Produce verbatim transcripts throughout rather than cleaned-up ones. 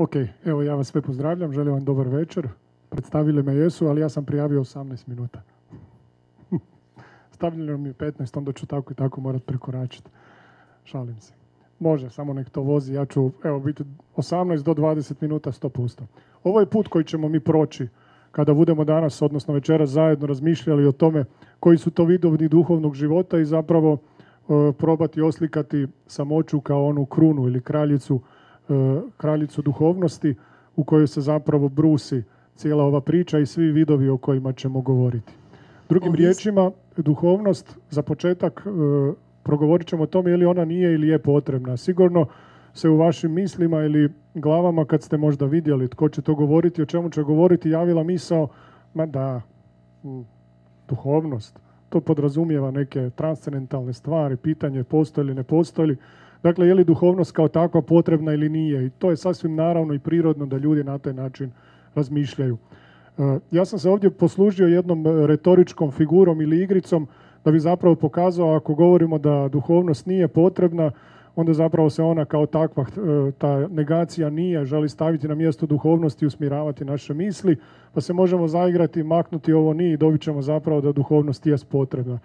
Ok, evo ja vas sve pozdravljam, želim vam dobar večer. Predstavili me jesu, ali ja sam prijavio osamnaest minuta. Stavljeno mi je petnaest, onda ću tako i tako morat prekoračiti. Šalim se. Može, samo nek to vozi. Ja ću, evo, biti osamnaest do dvadeset minuta, sto posto. Ovo je put koji ćemo mi proći kada budemo danas, odnosno večeras, zajedno razmišljali o tome koji su to vidovi duhovnog života i zapravo e, probati oslikati samoću kao onu krunu ili kraljicu, e, kraljicu duhovnosti u kojoj se zapravo brusi cijela ova priča i svi vidovi o kojima ćemo govoriti. Drugim riječima, duhovnost, za početak, e, progovorit ćemo o tome je li ona nije ili je potrebna. Sigurno se u vašim mislima ili glavama, kad ste možda vidjeli tko će to govoriti, o čemu će govoriti, javila misao, ma da, duhovnost, to podrazumijeva neke transcendentalne stvari, pitanje postoji ili ne postoji. Dakle, je li duhovnost kao takva potrebna ili nije? I to je sasvim naravno i prirodno da ljudi na taj način razmišljaju. Ja sam se ovdje poslužio jednom retoričkom figurom ili igricom da bi zapravo pokazao, ako govorimo da duhovnost nije potrebna, onda zapravo se ona kao takva, ta negacija nije, želi staviti na mjesto duhovnosti i usmjeravati naše misli, pa se možemo zaigrati, maknuti ovo nije i dobit ćemo zapravo da duhovnost jest potrebna.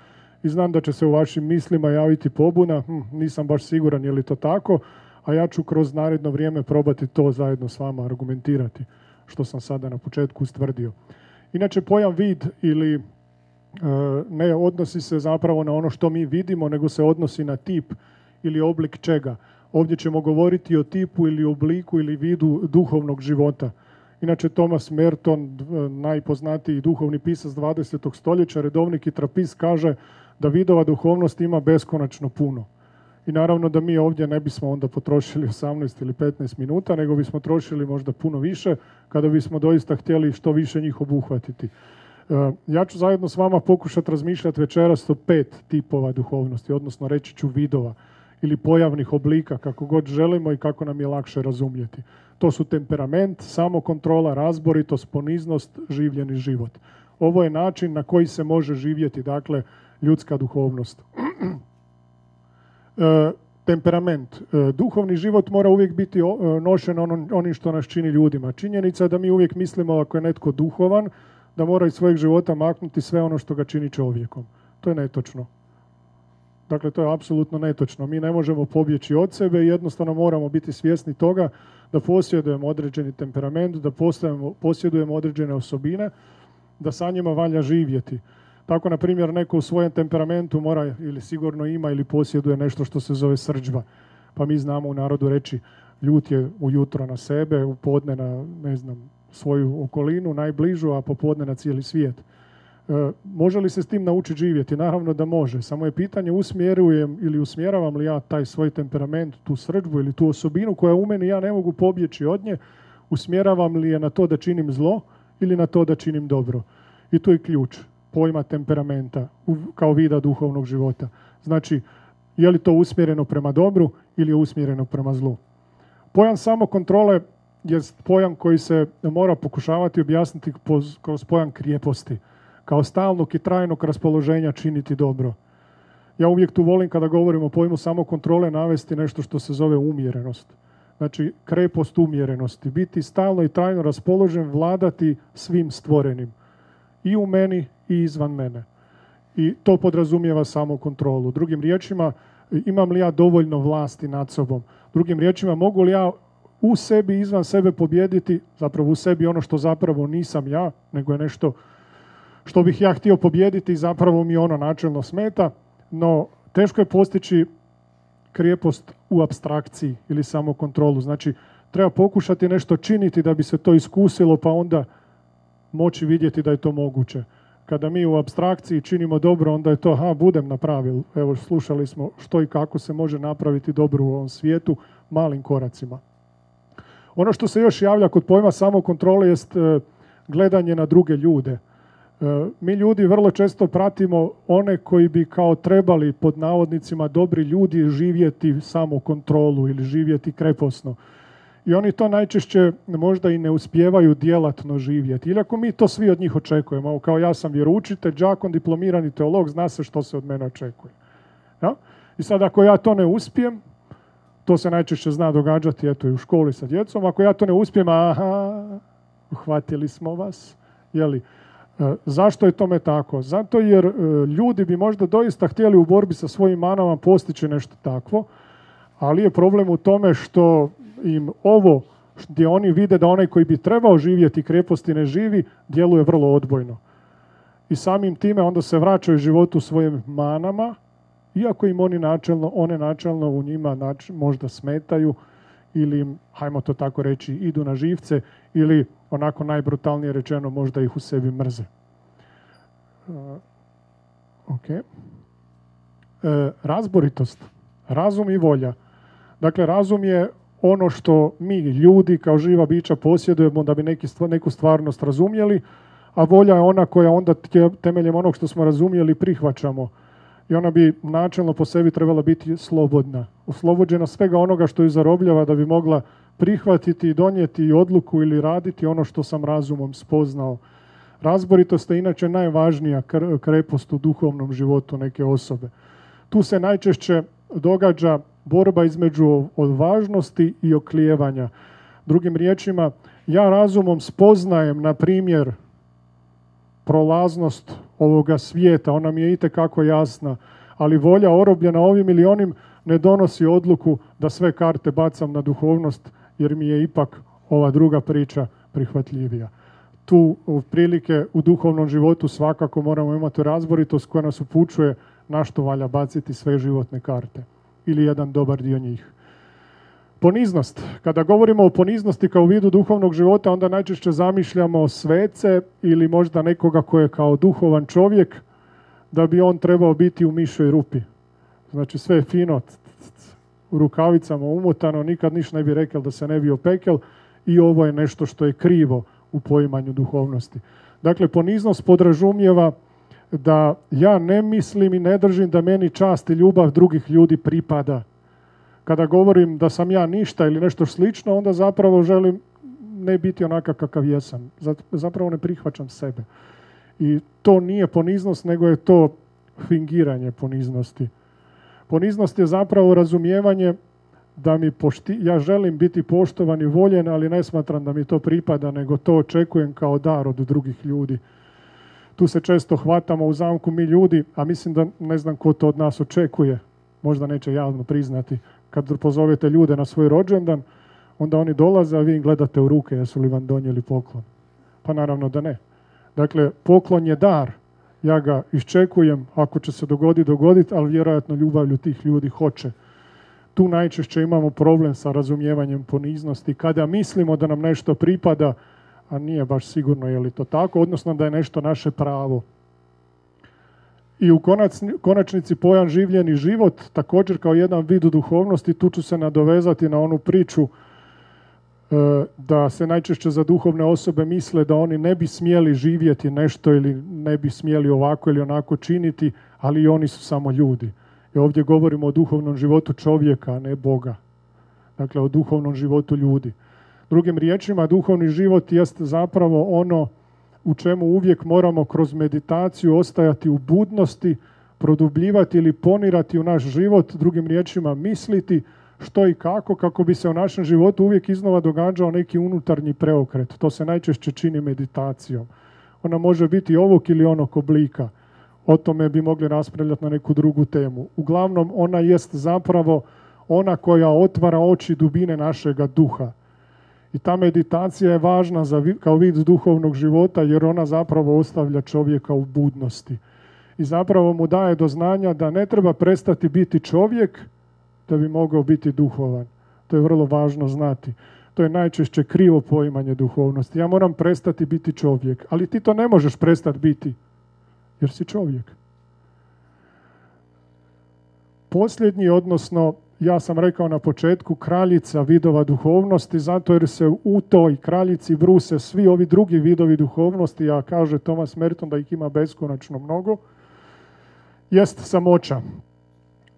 I znam da će se u vašim mislima javiti pobuna, hm, nisam baš siguran je li to tako, a ja ću kroz naredno vrijeme probati to zajedno s vama argumentirati, što sam sada na početku ustvrdio. Inače, pojam vid ili ne odnosi se zapravo na ono što mi vidimo, nego se odnosi na tip ili oblik čega. Ovdje ćemo govoriti o tipu ili obliku ili vidu duhovnog života. Inače, Thomas Merton, najpoznatiji duhovni pisac dvadesetog stoljeća, redovnik i trapist, kaže da vidova duhovnosti ima beskonačno puno. I naravno da mi ovdje ne bismo onda potrošili osamnaest ili petnaest minuta, nego bismo trošili možda puno više kada bismo doista htjeli što više njih obuhvatiti. Ja ću zajedno s vama pokušati razmišljati večeras o pet tipova duhovnosti, odnosno reći ću vidova ili pojavnih oblika, kako god želimo i kako nam je lakše razumjeti. To su temperament, samokontrola, razboritost, poniznost, življeni život. Ovo je način na koji se može živjeti, dakle, ljudska duhovnost. E, temperament. E, duhovni život mora uvijek biti o, nošen onom, onim što nas čini ljudima. Činjenica je da mi uvijek mislimo ako je netko duhovan, da mora iz svojeg života maknuti sve ono što ga čini čovjekom. To je netočno. Dakle, to je apsolutno netočno. Mi ne možemo pobjeći od sebe i jednostavno moramo biti svjesni toga da posjedujemo određeni temperament, da posjedujemo određene osobine, da sa njima valja živjeti. Tako, na primjer, neko u svojem temperamentu mora ili sigurno ima ili posjeduje nešto što se zove srdžba. Pa mi znamo u narodu reći ljut je ujutro na sebe, u podne na, ne znam, svoju okolinu, najbližu, a popodne na cijeli svijet. E, može li se s tim naučiti živjeti? Naravno da može. Samo je pitanje usmjerujem ili usmjeravam li ja taj svoj temperament, tu srdžbu ili tu osobinu koja u meni ja ne mogu pobjeći od nje, usmjeravam li je na to da činim zlo ili na to da činim dobro. I tu je ključ pojma temperamenta kao vida duhovnog života. Znači, je li to usmjereno prema dobru ili je usmjereno prema zlu? Pojam samokontrole je pojam koji se mora pokušavati objasniti kroz pojam krijeposti, kao stalnog i trajnog raspoloženja činiti dobro. Ja uvijek tu volim kada govorim o pojmu samokontrole navesti nešto što se zove umjerenost. Znači, krepost umjerenosti. Biti stalno i trajno raspoložen, vladati svim stvorenim. I u meni i izvan mene. I to podrazumijeva samokontrolu. Drugim riječima, imam li ja dovoljno vlasti nad sobom? Drugim riječima, mogu li ja u sebi, izvan sebe pobijediti, zapravo u sebi ono što zapravo nisam ja, nego je nešto što bih ja htio pobijediti i zapravo mi ono načelno smeta, no teško je postići krijepost u apstrakciji ili samokontrolu. Znači, treba pokušati nešto činiti da bi se to iskusilo, pa onda moći vidjeti da je to moguće. Kada mi u apstrakciji činimo dobro, onda je to, ha, budem napravil. Evo, slušali smo što i kako se može napraviti dobro u ovom svijetu malim koracima. Ono što se još javlja kod pojma samokontrole jest e, gledanje na druge ljude. E, mi ljudi vrlo često pratimo one koji bi kao trebali, pod navodnicima, dobri ljudi živjeti samokontrolu ili živjeti kreposno. I oni to najčešće možda i ne uspijevaju djelatno živjeti. Ili ako mi to svi od njih očekujemo, kao ja sam vjeroučitelj, đakon, diplomirani teolog, zna se što se od mene očekuje. Ja? I sad ako ja to ne uspijem, To se najčešće zna događati eto, i u školi sa djecom. Ako ja to ne uspijem, aha, uhvatili smo vas. Jeli? E, zašto je tome tako? Zato jer e, ljudi bi možda doista htjeli u borbi sa svojim manama postići nešto takvo, ali je problem u tome što im ovo gdje oni vide da onaj koji bi trebao živjeti kreposti ne živi, djeluje vrlo odbojno. I samim time onda se vraćaju životu svojim manama, iako im oni načelno, one načelno u njima nač, možda smetaju ili im, hajmo to tako reći, idu na živce ili onako najbrutalnije rečeno možda ih u sebi mrze. Uh, ok. E, razboritost, razum i volja. Dakle, razum je ono što mi ljudi kao živa bića posjedujemo da bi neki stvar, neku stvarnost razumjeli, a volja je ona koja onda temeljem onog što smo razumjeli prihvaćamo. I ona bi načelno po sebi trebala biti slobodna. Oslobođena svega onoga što ju zarobljava da bi mogla prihvatiti i donijeti odluku ili raditi ono što sam razumom spoznao. Razboritost je inače najvažnija krepost u duhovnom životu neke osobe. Tu se najčešće događa borba između odvažnosti i oklijevanja. Drugim riječima, ja razumom spoznajem, na primjer, prolaznost ovoga svijeta, ona mi je itekako jasna, ali volja orobljena ovim ili onim ne donosi odluku da sve karte bacam na duhovnost, jer mi je ipak ova druga priča prihvatljivija. Tu prilike u duhovnom životu svakako moramo imati razboritost koja nas upućuje na što valja baciti sve životne karte ili jedan dobar dio njih. Poniznost. Kada govorimo o poniznosti kao vidu duhovnog života, onda najčešće zamišljamo svece ili možda nekoga ko je kao duhovan čovjek, da bi on trebao biti u mišoj rupi. Znači sve je fino, u rukavicama umotano, nikad ništa ne bi rekao da se ne bi opekel, i ovo je nešto što je krivo u poimanju duhovnosti. Dakle, poniznost podrazumijeva da ja ne mislim i ne držim da meni čast i ljubav drugih ljudi pripada. Kada govorim da sam ja ništa ili nešto slično, onda zapravo želim ne biti onakav kakav jesam. Zapravo ne prihvaćam sebe. I to nije poniznost, nego je to fingiranje poniznosti. Poniznost je zapravo razumijevanje da mi pošti, ja želim biti poštovan i voljen, ali ne smatram da mi to pripada, nego to očekujem kao dar od drugih ljudi. Tu se često hvatamo u zamku mi ljudi, a mislim da ne znam ko to od nas očekuje. Možda neće javno priznati. Kad pozovete ljude na svoj rođendan, onda oni dolaze, a vi im gledate u ruke, jesu li vam donijeli poklon. Pa naravno da ne. Dakle, poklon je dar. Ja ga iščekujem, ako će se dogoditi, dogoditi, ali vjerojatno ljubavlju tih ljudi hoće. Tu najčešće imamo problem sa razumijevanjem poniznosti. Kada mislimo da nam nešto pripada, a nije baš sigurno je li to tako, odnosno da je nešto naše pravo. I u konačnici pojam življeni život, također kao jedan vid duhovnosti, tu ću se nadovezati na onu priču da se najčešće za duhovne osobe misle da oni ne bi smjeli živjeti nešto ili ne bi smjeli ovako ili onako činiti, ali i oni su samo ljudi. I ovdje govorimo o duhovnom životu čovjeka, a ne Boga. Dakle, o duhovnom životu ljudi. Drugim riječima, duhovni život jest zapravo ono u čemu uvijek moramo kroz meditaciju ostajati u budnosti, produbljivati ili ponirati u naš život, drugim riječima misliti što i kako, kako bi se u našem životu uvijek iznova događao neki unutarnji preokret. To se najčešće čini meditacijom. Ona može biti ovog ili onog oblika. O tome bi mogli raspravljati na neku drugu temu. Uglavnom, ona jest zapravo ona koja otvara oči dubine našega duha. I ta meditacija je važna za, kao vid duhovnog života, jer ona zapravo ostavlja čovjeka u budnosti. I zapravo mu daje do znanja da ne treba prestati biti čovjek da bi mogao biti duhovan. To je vrlo važno znati. To je najčešće krivo poimanje duhovnosti. Ja moram prestati biti čovjek, ali ti to ne možeš prestati biti, jer si čovjek. Posljednji, odnosno, ja sam rekao na početku, kraljica vidova duhovnosti, zato jer se u toj kraljici bruse svi ovi drugi vidovi duhovnosti, a kaže Thomas Merton da ih ima beskonačno mnogo, jest samoća.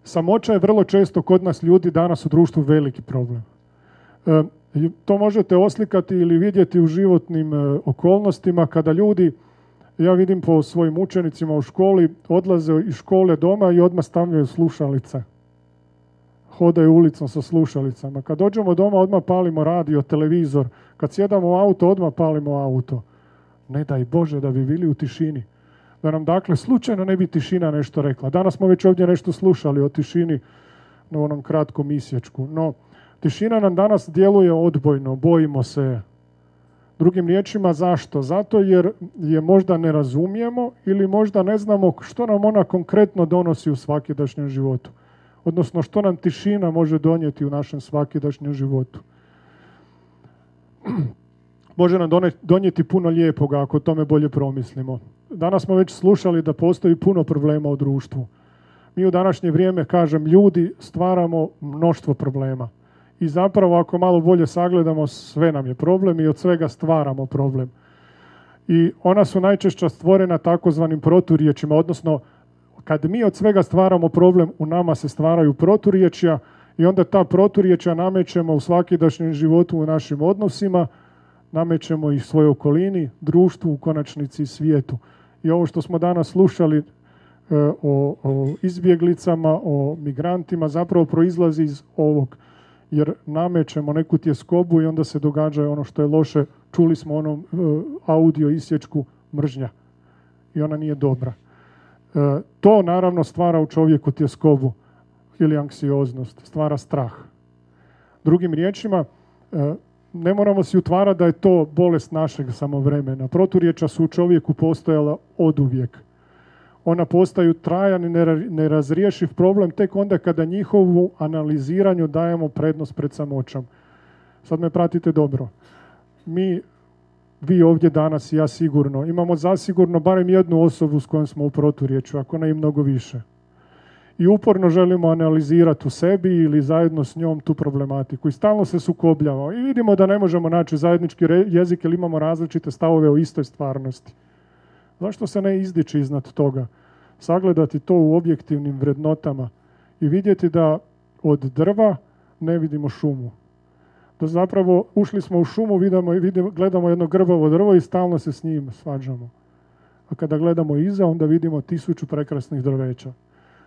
Samoća je vrlo često kod nas ljudi danas u društvu veliki problem. E, to možete oslikati ili vidjeti u životnim e, okolnostima kada ljudi, ja vidim po svojim učenicima u školi, odlaze iz škole doma i odmah stavljaju slušalice. hodaju ulicom sa slušalicama. Kad dođemo doma, odmah palimo radio, televizor. Kad sjedamo u auto, odmah palimo auto. Ne daj Bože da bi bili u tišini. Da nam dakle slučajno ne bi tišina nešto rekla. Danas smo već ovdje nešto slušali o tišini na onom kratkom isječku. No, tišina nam danas djeluje odbojno, bojimo se. Drugim riječima, zašto? Zato jer je možda ne razumijemo ili možda ne znamo što nam ona konkretno donosi u svakidašnjem životu. Odnosno, što nam tišina može donijeti u našem svakidašnjem životu. Može nam donijeti puno lijepoga ako o tome bolje promislimo. Danas smo već slušali da postoji puno problema u društvu. Mi u današnje vrijeme, kažem, ljudi stvaramo mnoštvo problema. I zapravo ako malo bolje sagledamo, sve nam je problem i od svega stvaramo problem. I ona su najčešće stvorena takozvanim proturječima, odnosno kad mi od svega stvaramo problem, u nama se stvaraju proturječja i onda ta proturječja namećemo u svakidašnjem životu, u našim odnosima, namećemo ih svojoj okolini, društvu, u konačnici i svijetu. I ovo što smo danas slušali e, o, o izbjeglicama, o migrantima, zapravo proizlazi iz ovog. Jer namećemo neku tjeskobu i onda se događa ono što je loše. Čuli smo onom e, audio isječku mržnja i ona nije dobra. E, to naravno stvara u čovjeku tjeskobu ili anksioznost, stvara strah. Drugim riječima, e, ne moramo si utvarati da je to bolest našeg samovremena. Proturječja su u čovjeku postojala oduvijek. Ona postaju trajan i nerazriješiv problem tek onda kada njihovu analiziranju dajemo prednost pred samoćom. Sad me pratite dobro. Mi, vi ovdje danas i ja sigurno, imamo zasigurno barem jednu osobu s kojom smo u proturječju, ako ne i mnogo više. I uporno želimo analizirati u sebi ili zajedno s njom tu problematiku. I stalno se sukobljavamo. I vidimo da ne možemo naći zajednički jezik jer imamo različite stavove o istoj stvarnosti. Zašto se ne izdići iznad toga? Sagledati to u objektivnim vrednotama i vidjeti da od drva ne vidimo šumu. Da zapravo ušli smo u šumu, vidimo, vidimo, gledamo jedno grbavo drvo i stalno se s njim svađamo. A kada gledamo iza, onda vidimo tisuću prekrasnih drveća.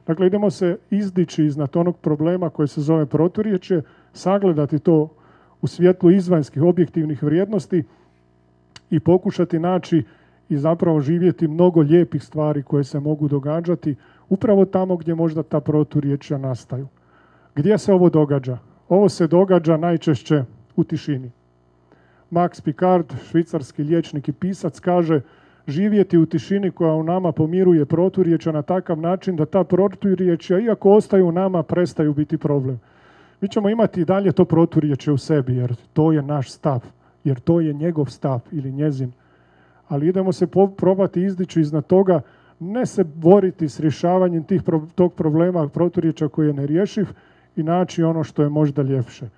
Dakle, idemo se izdići iznad onog problema koji se zove proturječje, sagledati to u svjetlu izvanjskih objektivnih vrijednosti i pokušati naći i zapravo živjeti mnogo lijepih stvari koje se mogu događati upravo tamo gdje možda ta proturječja nastaju. Gdje se ovo događa? Ovo se događa najčešće u tišini. Max Picard, švicarski liječnik i pisac, kaže živjeti u tišini koja u nama pomiruje proturječja na takav način da ta proturječja, iako ostaju u nama, prestaju biti problem. Mi ćemo imati i dalje to proturječje u sebi, jer to je naš stav, jer to je njegov stav ili njezin. Ali idemo se probati izdići iznad toga, ne se boriti s rješavanjem tih, tog problema proturječja koji je nerješiv i naći ono što je možda ljepše.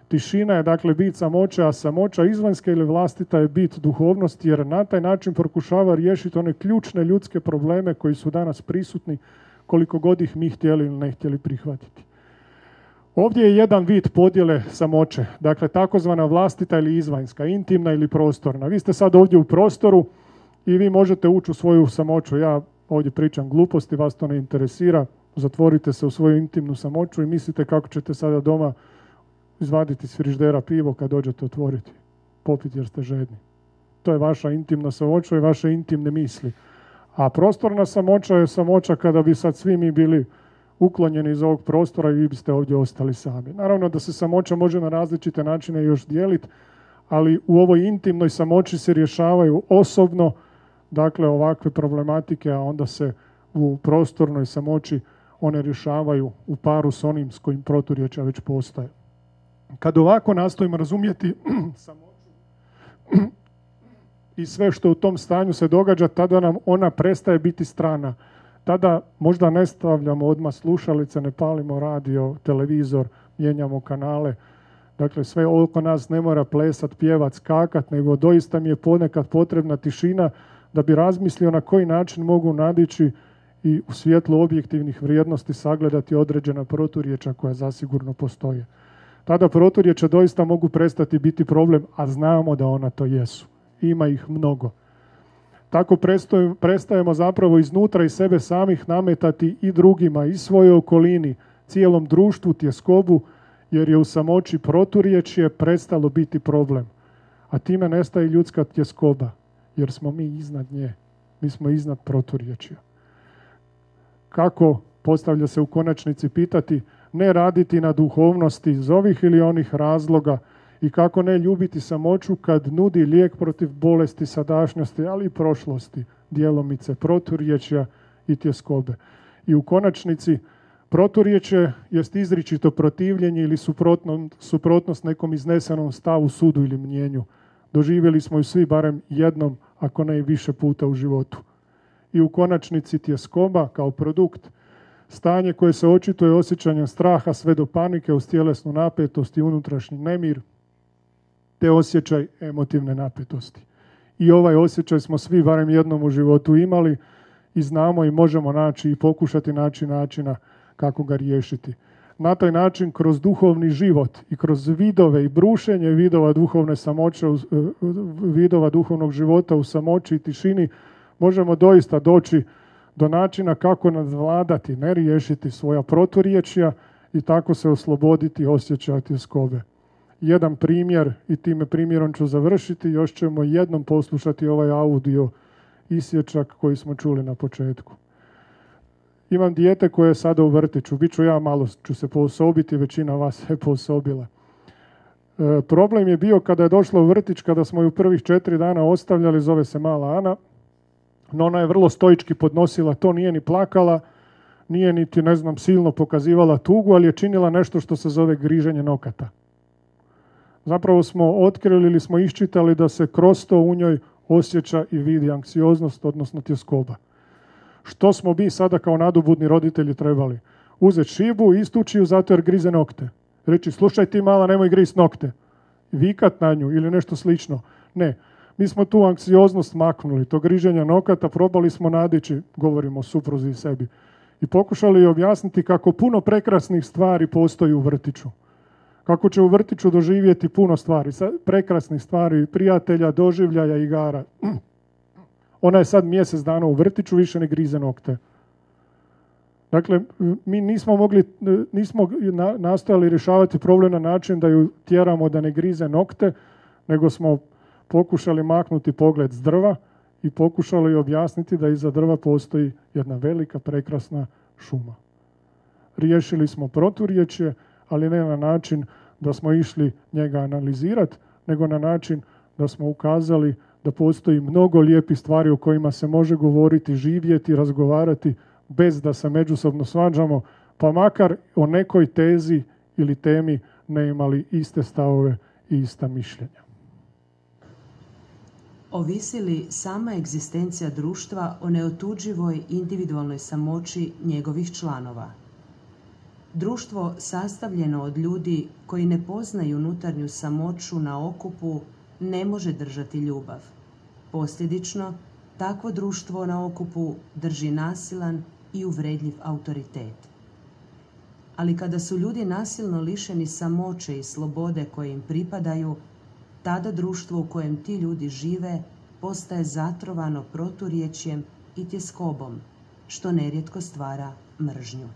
Tišina je dakle bit samoće, a samoća izvanjska ili vlastita je bit duhovnosti, jer na taj način pokušava riješiti one ključne ljudske probleme koji su danas prisutni, koliko god ih mi htjeli ili ne htjeli prihvatiti. Ovdje je jedan vid podjele samoće, dakle takozvana vlastita ili izvanjska, intimna ili prostorna. Vi ste sad ovdje u prostoru i vi možete ući u svoju samoću. Ja ovdje pričam gluposti, vas to ne interesira. Zatvorite se u svoju intimnu samoću i mislite kako ćete sada doma izvaditi iz frižidera pivo kad dođete otvoriti, popiti jer ste žedni. To je vaša intimna samoća i vaše intimne misli. A prostorna samoća je samoća kada bi sad svi mi bili uklonjeni iz ovog prostora i vi biste ovdje ostali sami. Naravno da se samoća može na različite načine još dijeliti, ali u ovoj intimnoj samoći se rješavaju osobno, dakle ovakve problematike, a onda se u prostornoj samoći one rješavaju u paru s onim s kojim proturječja već postoje. Kad ovako nastojimo razumjeti samoću i sve što u tom stanju se događa, tada nam ona prestaje biti strana. Tada možda ne stavljamo odmah slušalice, ne palimo radio, televizor, mijenjamo kanale. Dakle, sve oko nas ne mora plesat, pjevat, skakat, nego doista mi je ponekad potrebna tišina da bi razmislio na koji način mogu nadići i u svjetlu objektivnih vrijednosti sagledati određena proturječja koja zasigurno postoje. Tada proturječja doista mogu prestati biti problem, a znamo da ona to jesu. Ima ih mnogo. Tako prestajemo zapravo iznutra i sebe samih nametati i drugima, i svojoj okolini, cijelom društvu tjeskobu, jer je u samoći proturječje prestalo biti problem. A time nestaje ljudska tjeskoba, jer smo mi iznad nje. Mi smo iznad proturječja. Kako, postavlja se u konačnici pitati, ne raditi na duhovnosti iz ovih ili onih razloga i kako ne ljubiti samoću kad nudi lijek protiv bolesti sadašnjosti, ali i prošlosti, djelomice proturječja i tjeskobe. I u konačnici proturječje jest izričito protivljenje ili suprotno, suprotnost nekom iznesenom stavu, sudu ili mnjenju. Doživjeli smo ju svi barem jednom, ako ne i više puta u životu. I u konačnici tjeskoba kao produkt, stanje koje se očituje osjećanjem straha sve do panike uz tjelesnu napetost i unutrašnji nemir, te osjećaj emotivne napetosti. I ovaj osjećaj smo svi barem jednom u životu imali i znamo i možemo naći i pokušati naći načina kako ga riješiti. Na taj način, kroz duhovni život i kroz vidove i brušenje vidova duhovne samoće, vidova duhovnog života u samoći i tišini, možemo doista doći do načina kako nadvladati, ne riješiti svoja proturječja i tako se osloboditi osjećaja tjeskobe. Jedan primjer, i time primjerom ću završiti, još ćemo jednom poslušati ovaj audio isječak koji smo čuli na početku. Imam dijete koje je sada u vrtiću, bit ću ja, malo ću se poosobiti, većina vas se poosobila. E, problem je bio kada je došla u vrtić, kada smo ju prvih četiri dana ostavljali, zove se mala Ana, no ona je vrlo stoički podnosila to, nije ni plakala, nije niti, ne znam, silno pokazivala tugu, ali je činila nešto što se zove griženje nokata. Zapravo smo otkrili ili smo iščitali da se kroz to u njoj osjeća i vidi anksioznost, odnosno tjeskoba. Što smo mi sada kao nadobudni roditelji trebali? Uzeti šibu i istući ju zato jer grize nokte. Reći, slušaj ti mala, nemoj grist nokte. Vikat na nju ili nešto slično. Ne. Mi smo tu anksioznost maknuli, to griženja nokata, probali smo nadići, govorimo o supruzi i sebi, i pokušali objasniti kako puno prekrasnih stvari postoji u vrtiću. Kako će u vrtiću doživjeti puno stvari, prekrasnih stvari, prijatelja, doživljaja, igara. Ona je sad mjesec dana u vrtiću, više ne grize nokte. Dakle, mi nismo mogli, nismo nastojali rješavati problem na način da ju tjeramo da ne grize nokte, nego smo pokušali maknuti pogled s drva i pokušali objasniti da iza drva postoji jedna velika, prekrasna šuma. Riješili smo proturječje, ali ne na način da smo išli njega analizirati, nego na način da smo ukazali da postoji mnogo lijepih stvari o kojima se može govoriti, živjeti, razgovarati bez da se međusobno svađamo, pa makar o nekoj tezi ili temi ne imali iste stavove i ista mišljenja. Ovisi li sama egzistencija društva o neotuđivoj individualnoj samoći njegovih članova? Društvo sastavljeno od ljudi koji ne poznaju unutarnju samoću na okupu ne može držati ljubav. Posljedično, takvo društvo na okupu drži nasilan i uvredljiv autoritet. Ali kada su ljudi nasilno lišeni samoće i slobode koje im pripadaju, tada društvo u kojem ti ljudi žive postaje zatrovano proturječjem i tjeskobom, što nerijetko stvara mržnju.